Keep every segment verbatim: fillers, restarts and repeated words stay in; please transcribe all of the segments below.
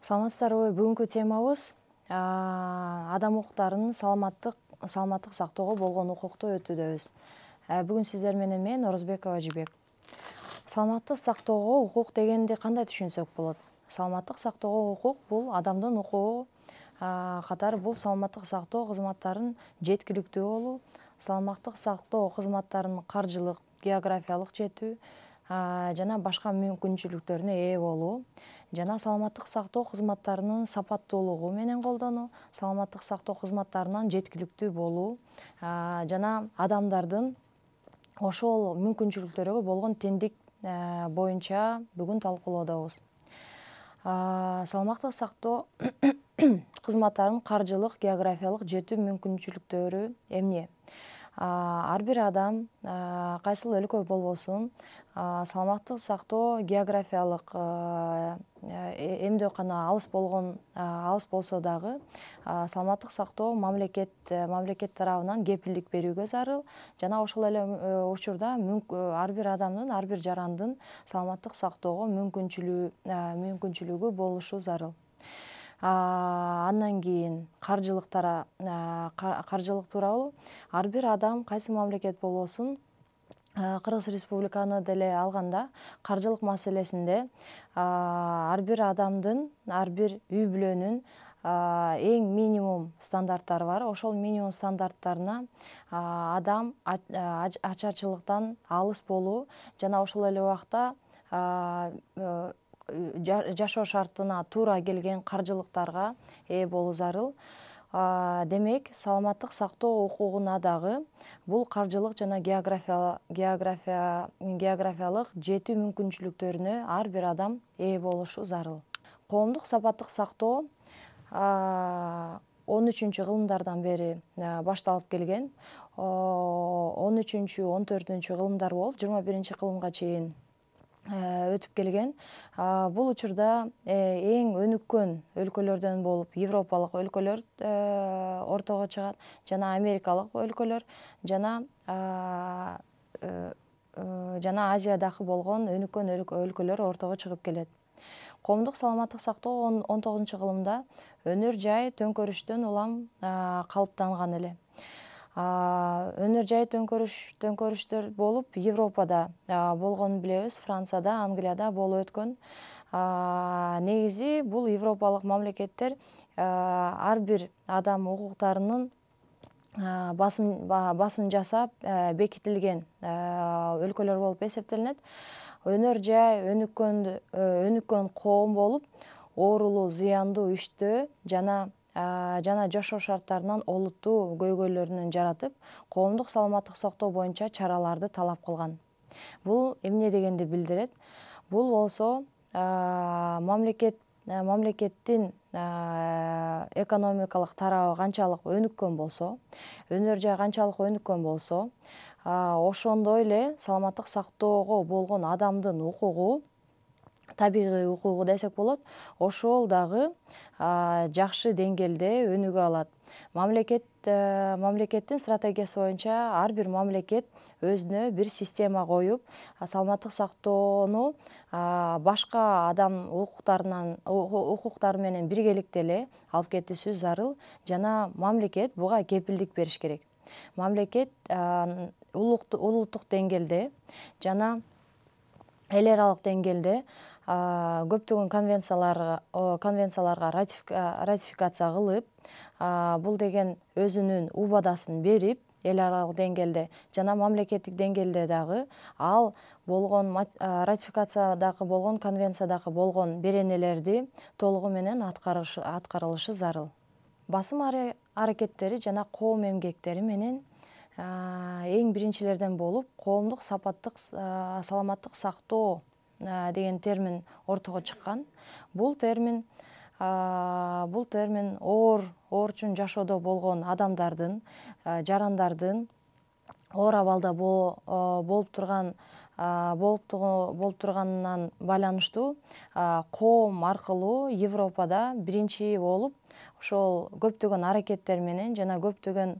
Саламатсыздарбы? Бүгүнкү темабыз адам укуктарынын саламаттык саламаттык сактоого болгон укукту өтүүдөбүз. Бүгүн сиздер менен мен Орозбекова Жибек. Саламаттык сактоого укук дегенди кандай түшүнсөк болот? Саламаттык сактоого укук бул адамдын укугу катары бул саламаттык сактоо кызматтарын жеткиликтүү болуу, саламаттык сактоо кызматтарынын каржылык, географиялык жетүү жана башка мүмкүнчүлүктөрүнө ээ болуу жана саламаттык сактоо кызматтарынын сапаттуулугу менен колдонуу, саламаттык сактоо кызматтарынан жеткиликтүү болуу жана адамдардын ошол мүмкүнчүлүктөргө болгон теңдик боюнча бүгүн талкуулоодобуз. Саламаттык сактоо кызматтарынын каржылык, географиялык жетүү мүмкүнчүлүктөрү эмне? Ар бир адам кайсыл өлкө болбосун саламаттык сактоо географиялык эмдөөкана алыс болгон алыс болсо дагы саламаттык сактоо мамлекет мамлекет тарабынан кепилдик берүүгө зарыл жана ошол эле учурда ар бир адамдын, ар бир жарандын саламаттык сактоого мүмкүнчүлүгү мүмкүнчүлүгү болушу зарыл. Андан кийин каржылык каржылык тууралуу ар бир адам кайсы мамлекет болбосун Кыргыз Республиканы деле алганда каржылык маселесинде ар бир адамдын, ар бир үй бүлөнүн эң минимум стандарттары бар. Ошол минимум стандарттарына адам ачарчылыктан алыс болуу жана ошол эле убакта жашоо шартына туура келген каржылыктарга ээ болуу зарыл. Демек, саламаттык сактоо укугуна дагы бул каржылык жана географиялык жетүү мүмкүнчүлүктөрүнө ар бир адам ээ болушу зарыл. Коомдук сапаттык сактоо он үчүнчү кылымдардан бери башталып келген. он үчүнчү он төртүнчү кылымдар болуп, жыйырма биринчи кылымга чейин өтүп келген. Бул учурда эң өнүккөн өлкөлөрдөн болуп европалык өлкөлөр ортого чыгат жана америкалык өлкөлөр жана жана Азиядагы болгон өнүккөн өлкөлөр ортого чыгып келет. Коомдук саламаттык сактоо он тогузунчу кылымда өнөр жай төңкөрүштөн улам калыптанган эле. Өнөр жай төңкөрүштөр болуп Европада болгонун билебиз, Францияда, Англияда болуп өткөн. Негизи бул европалык мамлекеттер ар бир адам укуктарынын басым жасап бекитилген өлкөлөр болуп эсептелинет. Өнөр жай өнүккөн өнүккөн коом болуп, оорулуу, зыяндуу иштөө жана жана жашоо шарттарынан олуттуу көйгөйлөрүн жаратып, коомдук саламаттык сактоо боюнча чараларды талап кылган. Бул эмне дегенди билдирет? Бул болсо мамлекет мамлекеттин экономикалык тарабы канчалык өнүккөн болсо, өнөр жай канчалык өнүккөн болсо, ошондой эле саламаттык сактоого болгон адамдын укугу, табигый укугу десек болот, ошол дагы жакшы деңгээлде өнүгө алат. Мамлекет мамлекеттин стратегиясы боюнча ар бир мамлекет өзүнө бир система коюп, саламаттык сактоону башка адам укуктарынан укуктары менен биргеликте эле алып кетүүсү зарыл жана мамлекет буга кепилдик бериш керек. Мамлекет улуттук деңгээлде жана эл аралык деңгээлде көптөгөн конвенцияларга конвенцияларга ратификация кылып, бул деген өзүнүн убадасын берип, эл аралык деңгээлде жана мамлекеттик деңгээлде дагы ал болгон ратификациядагы болгон конвенциядагы болгон беренелерди толугу менен аткарылышы зарыл. Басым аракеттери жана коом эмгектери менен эң биринчилерден болуп, коомдук сапаттык саламаттык сактоо деген термин ортого чыккан. Бул термин бул термин оор оорчун жашоодо болгон адамдардын, жарандардын оор абалда болуп турган болуп турганынан байланыштуу коом аркылуу Европада биринчи болуп ошол көптөгөн аракеттер менен жана көптөгөн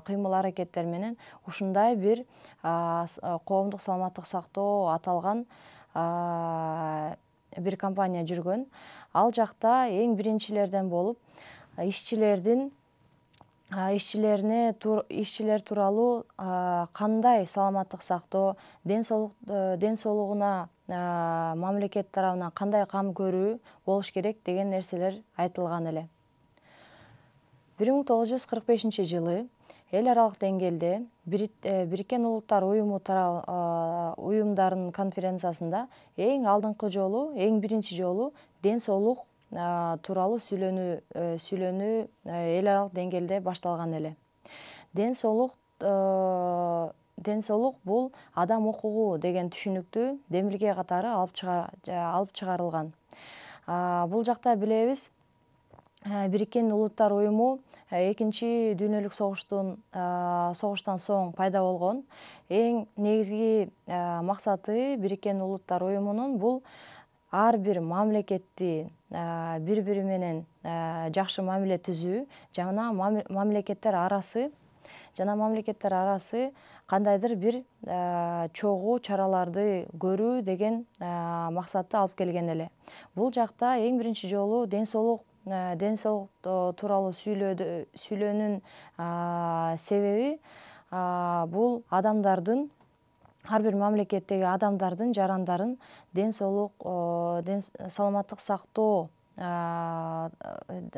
кыймыл аракеттер менен ушундай бир коомдук саламаттык сактоо аталган бир компания жүргөн. Ал жакта эң биринчилерден болуп ишчилердин ишчилерине ишчилер тууралуу кандай саламаттык сактоо, ден соолук ден соолугуна мамлекет тарабынан кандай кам көрүү болуш керек деген нерселер айтылган эле. бир миң тогуз жүз кырк бешинчи жылы эл аралык деңгээлде Бириккен Улуттар уюму уюмдарынын конференциясында эң алдыңкы жолу, эң биринчи жолу ден соолук тууралуу сүйлөнүү сүйлөнүү эл аралык деңгээлде башталган эле. Ден соолук ден соолук бул адам укугу деген түшүнүктү демилге катары алып алып чыгарылган. Бул жакта билебиз, Бириккен Улуттар уюму экинчи дүйнөлүк согуштун согуштан соң пайда болгон. Эң негизги максаты Бириккен Улуттар уюмунун бул ар бир мамлекетти бири бири менен жакшы мамиле түзүү жана мамлекеттер арасы жана мамлекеттер арасы кандайдыр бир чогуу чараларды көрүү деген максатты алып келген эле. Бул жакта эң биринчи жолу ден соолук ден соолук тууралуу сүйлөөнүн себеби бул адамдардын ар бир мамлекеттеги адамдардын жарандарын ден соолук саламаттык сактоо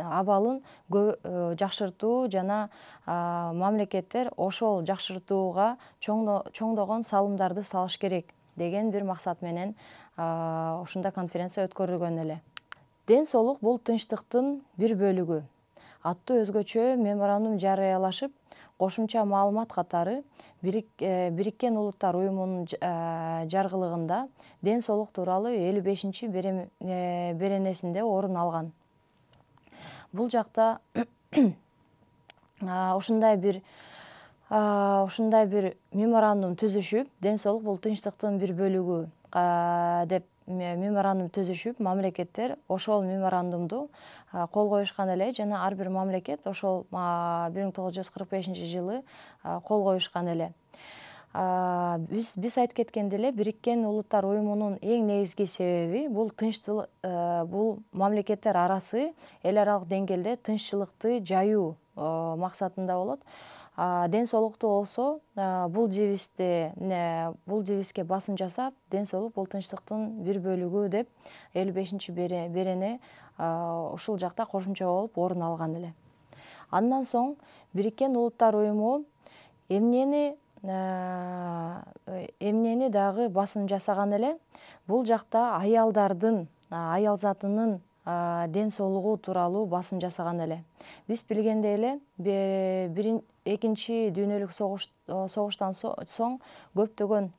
абалын жакшыртуу жана мамлекеттер ошол жакшыртууга чоңдогон салымдарды салыш керек деген бир максат менен ушундай конференция өткөрүлгөн эле. Ден соолук бул тынчтыктын бир бөлүгү аттуу өзгөчө меморандум жарыялашып, кошумча маалымат катары Бириккен Улуттар уюмунун жаргылыгында ден соолук тууралуу элүү бешинчи беренесинде орун алган. Бул жакта ушундай бир ушундай бир меморандум түзүшүп, ден соолук бул тынчтыктын бир бөлүгү деп меморандум түзүшүп, мамлекеттер ошол меморандумду кол коюшкан эле жана ар бир мамлекет ошол бир миң тогуз жүз кырк бешинчи жылы кол коюшкан эле. Биз биз айтып кеткендей эле, Бириккен Улуттар уюмунун эң негизги себеби бул тынчтык бул мамлекеттер арасы эл аралык деңгээлде тынччылыкты жаюу максатында болот. Ден соолукту болсо бул жибисте бул жибиске басым жасап, ден соолук бул тынчтыктын бир бөлүгү деп элүү бешинчи берене ушул жакта кошумча болуп орун алган эле. Андан соң Бириккен Улуттар уюму эмнени эмнени дагы басым жасаган эле, бул жакта аялдардын аял затынын ден соолугу тууралуу басым жасаган эле. Биз билгендей эле, экинчи дүйнөлүк согуштан соң көптөгөн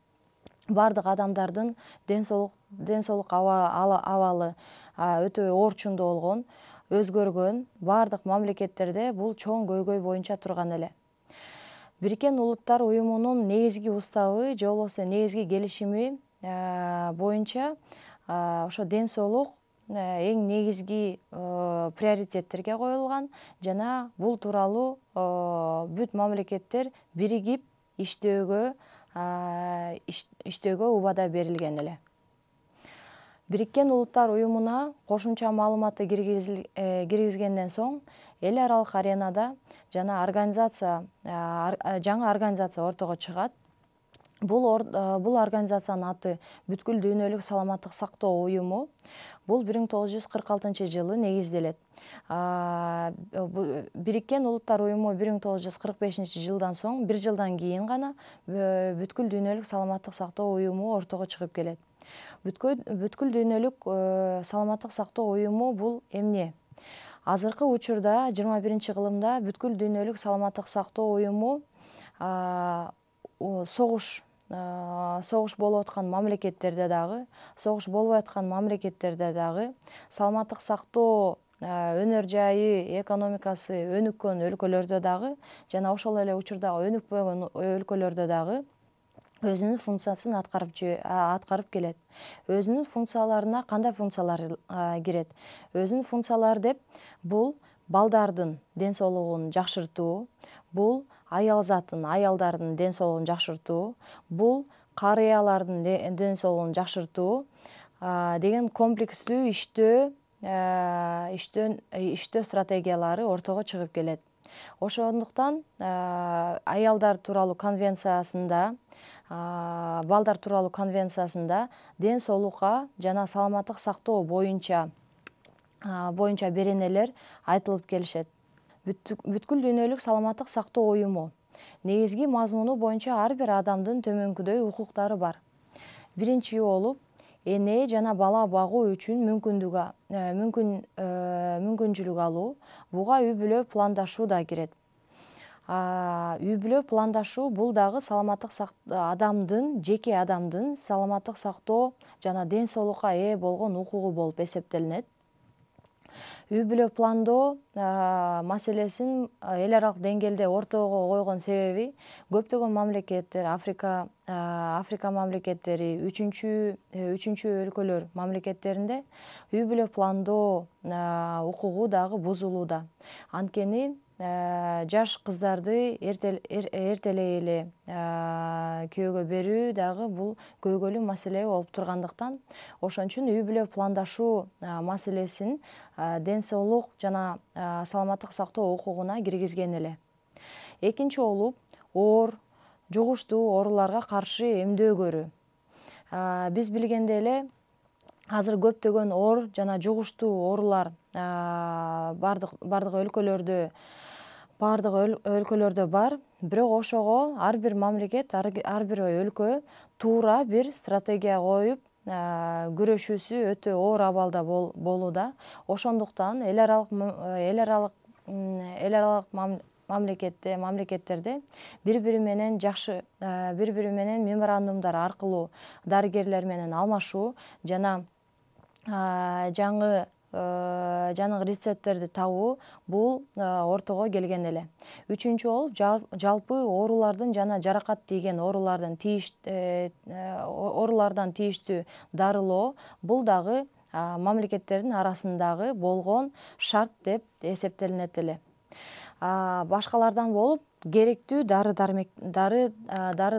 бардык адамдардын ден соолук ден соолук абалы өтө орчундуу болгон, өзгөргөн, бардык мамлекеттерде бул чоң көйгөй боюнча турган эле. Бириккен Улуттар уюмунун негизги уставы же болбосо негизги келишими боюнча ошо ден соолук эң негизги приоритеттерге коюлган жана бул тууралуу бүт мамлекеттер биригип иштөөгө иштөөгө убада берилген эле. Бириккен Улуттар уюмуна кошумча маалыматты киргизгенден соң эл аралык аренада жана организация жаңы организация ортого чыгат. Бул бул организациянын аты Бүткүл дүйнөлүк саламаттык сактоо уюму. Бул бир миң тогуз жүз кырк алтынчы жылы негизделет. Бириккен Улуттар уюму бир миң тогуз жүз кырк бешинчи жылдан соң, бир жылдан кийин гана Бүткүл дүйнөлүк саламаттык сактоо уюму ортого чыгып келет. Бүткүл дүйнөлүк саламаттык сактоо уюму бул эмне? Азыркы учурда жыйырма биринчи кылымда Бүткүл дүйнөлүк саламаттык сактоо уюму согуш согуш болуп аткан мамлекеттерде дагы, согуш болбой аткан мамлекеттерде дагы, саламаттык сактоо өнөр жайы, экономикасы өнүккөн өлкөлөрдө дагы жана ошол эле учурда өнүкпөгөн өлкөлөрдө дагы өзүнүн функциясын аткарып аткарып келет. Өзүнүн функцияларына кандай функциялар кирет? Өзүнүн функциялары деп бул балдардын ден соолугун жакшыртуу, бул аял затын, аялдардын ден соолугун жакшыртуу, бул карыялардын ден соолугун жакшыртуу, деген комплекстүү иштөө иштөө иштөө стратегиялары ортого чыгып келет. Ошондуктан аялдар тууралуу конвенциясында, балдар тууралуу конвенциясында ден соолукка жана саламаттык сактоо боюнча боюнча беренелер айтылып келишет. Бүткүл дүйнөлүк саламаттык сактоо уюму негизги мазмуну боюнча ар бир адамдын төмөнкүдөй укуктары бар. Биринчи болуп, эне жана бала багуу үчүн мүмкүндүк мүмкүнчүлүк алуу, буга үй бүлө пландашуу да кирет. Үй бүлө пландашуу бул дагы саламаттык адамдын, жеке адамдын саламаттык сактоо жана ден соолукка ээ болгон укугу болуп эсептелинет. Үй бүлө пландоо маселесин эл аралык деңгээлде ортого койгон себеби көптөгөн мамлекеттер, Африка Африка мамлекеттери, үчүнчү өлкөлөр мамлекеттеринде үй бүлө пландоо укугу дагы бузулууда. Анткени жаш кыздарды эртелей эле күйөөгө берүү дагы бул көйгөйлүү маселе болуп тургандыктан, ошон үчүн үй бүлө пландашуу маселесин ден соолук жана саламаттык сактоо укугуна киргизген эле. Экинчи болуп, оор, жугуштуу ооруларга каршы эмдөө көрүү. Биз билгендей эле азыр көптөгөн оор жана жугуштуу оорулар бардык бардык өлкөлөрдө бардык өлкөлөрдө бар, бирок ошого ар бир мамлекет, ар бир өлкө туура бир стратегия коюп күрөшүүсү өтө оор абалда болууда. Ошондуктан эл аралык эл аралык эл аралык мамлекетте мамлекеттерде бири бири менен жакшы бири бири менен меморандумдар аркылуу дарыгерлер менен алмашуу жана жаңы жаңы рецепттерди табуу бул ортого келген эле. Үчүнчү болуп, жалпы оорулардын жана жаракат тийген оорулардын оорулардан тийиштүү дарылоо бул дагы мамлекеттердин арасындагы болгон шарт деп эсептелинет эле. Башкалардан болуп, керектүү дары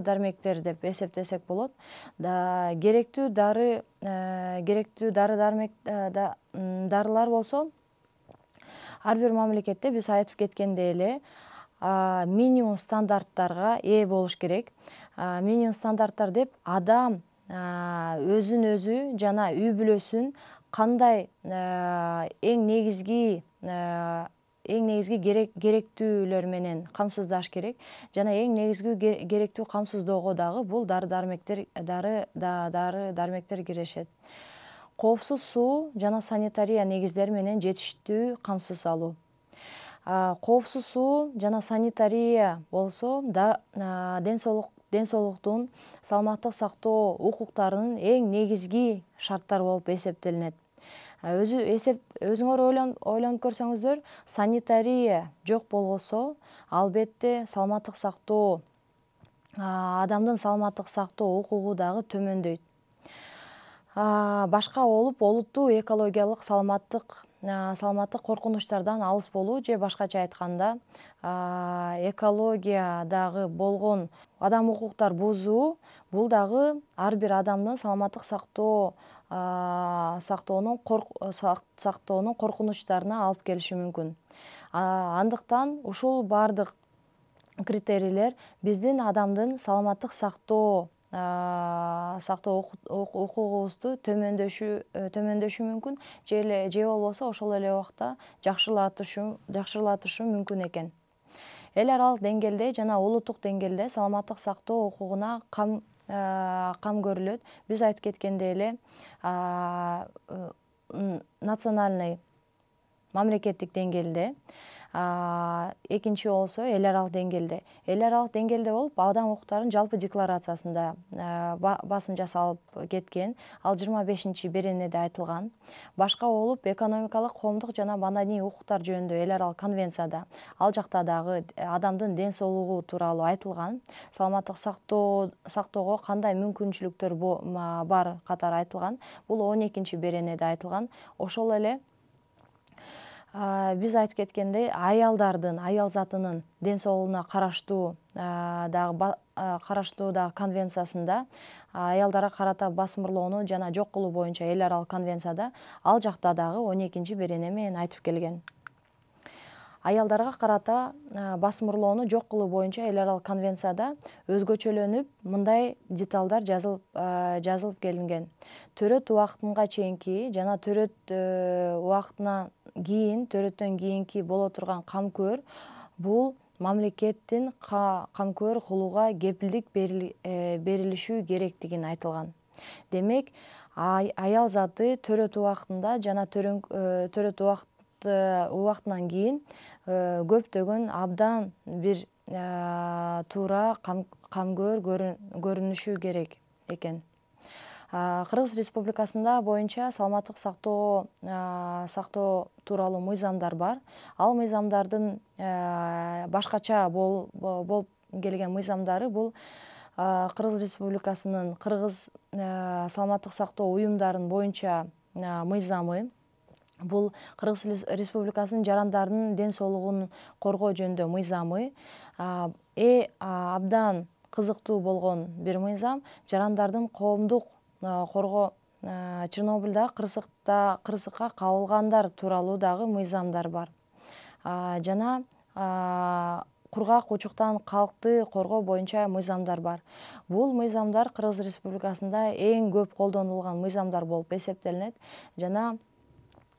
дармектер деп эсептесек болот. Керектүү дары керектүү дары дарылар болсо, ар бир мамлекетте биз айтып кеткендей эле минимум стандарттарга ээ болуш керек. Минимум стандарттар деп адам өзүн өзү жана үй бүлөсүн кандай эң негизги эң негизги керектүүлөр менен камсыздаш керек жана эң негизги керектүү камсыздоого дагы бул дары дармектер дары дары дармектер киришет. Коопсуз суу жана санитария негиздери менен жетиштүү камсыз алуу. Коопсуз суу жана санитария болсо да ден соолук ден соолуктун саламаттык сактоо укуктарынын эң негизги шарттары болуп эсептелинет. Өзү эсеп өзүңөр ойлонуп көрсөңүздөр, санитария жок болгосо, албетте саламаттык сактоо адамдын саламаттык сактоо укугу дагы төмөндөйт. Башка болуп, олуттуу экологиялык саламаттык саламаттык коркунучтардан алыс болуу же башкача айтканда экологиядагы болгон адам укуктар бузуу бул дагы ар бир адамдын саламаттык сактоо сактоонун сактоонун коркунучтарына алып келиши мүмкүн. Андыктан ушул бардык критерийлер биздин адамдын саламаттык сактоо сактоо укугубузду төмөндөшү мүмкүн же болбосо ошол эле убакта жакшырлатышы мүмкүн экен. Эл аралык деңгээлде жана улуттук деңгээлде саламаттык сактоо укугуна кам кам көрүлөт. Биз айтып кеткендей эле национальный мамлекеттик деңгээлде, экинчи болсо эл аралык деңгээлде. Эл аралык деңгээлде болуп, адам укуктарынын жалпы декларациясында басым жасалып кеткен, ал жыйырма бешинчи беренеде айтылган. Башка болуп, экономикалык, коомдук жана маданий укуктар жөнүндө эл аралык конвенцияда ал жакта дагы адамдын ден соолугу тууралуу айтылган. Саламаттык сактоо сактоого кандай мүмкүнчүлүктөр бар катары айтылган. Бул он экинчи беренеде айтылган. Ошол эле Биз айтып кеткендей, аялдардын, аял затынын ден соолугуна караштуу дагы караштуу дагы конвенциясында аялдарга карата басымырлоону жана жок кылуу боюнча эл аралык конвенцияда ал жакта дагы он экинчи берене менен айтып келген. Аялдарга карата басымырлоону жок кылуу боюнча эл аралык конвенцияда өзгөчөлөнүп мындай деталдар жазылып жазылып келинген. Төрөт убактынга чейинки жана төрөт убактынан кийин, төрөттөн кийинки боло турган камкөр бул мамлекеттин камкөр кылууга кепилдик берилиши керектигин айтылган. Демек, аял заты төрөт убактында жана төрөт убактынан кийин көптөгөн абдан бир туура камкөр көрүнүшү керек экен. Кыргыз Республикасында боюнча саламаттык сактоо сактоо тууралуу мыйзамдар бар. Ал мыйзамдардын башкача болуп келген мыйзамдары бул Кыргыз Республикасынын Кыргыз саламаттык сактоо уюмдарынын боюнча мыйзамы, бул Кыргыз Республикасынын жарандардын ден соолугун коргоо жөнүндө мыйзамы, абдан кызыктуу болгон бир мыйзам жарандардын коомдук коргоо Чернобыльда кырсыкка кабылгандар тууралуу дагы мыйзамдар бар. Жана кургак учуктан калкты коргоо боюнча мыйзамдар бар. Бул мыйзамдар Кыргыз Республикасында эң көп колдонулган мыйзамдар болуп эсептелинет. Жана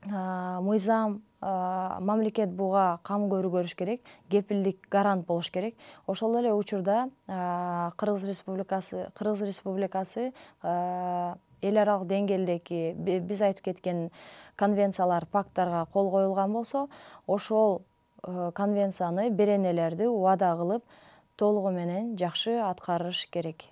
мыйзам мамлекет буга кам көрүш керек, кепилдик гарант болуш керек. Ошол эле учурда Кыргыз Республикасы Кыргыз Республикасы эл аралык деңгээлдеги биз айтып кеткен конвенциялар, пакттарга кол коюлган болсо, ошол конвенцияны, беренелерди убада кылып толугу менен жакшы аткарыш керек.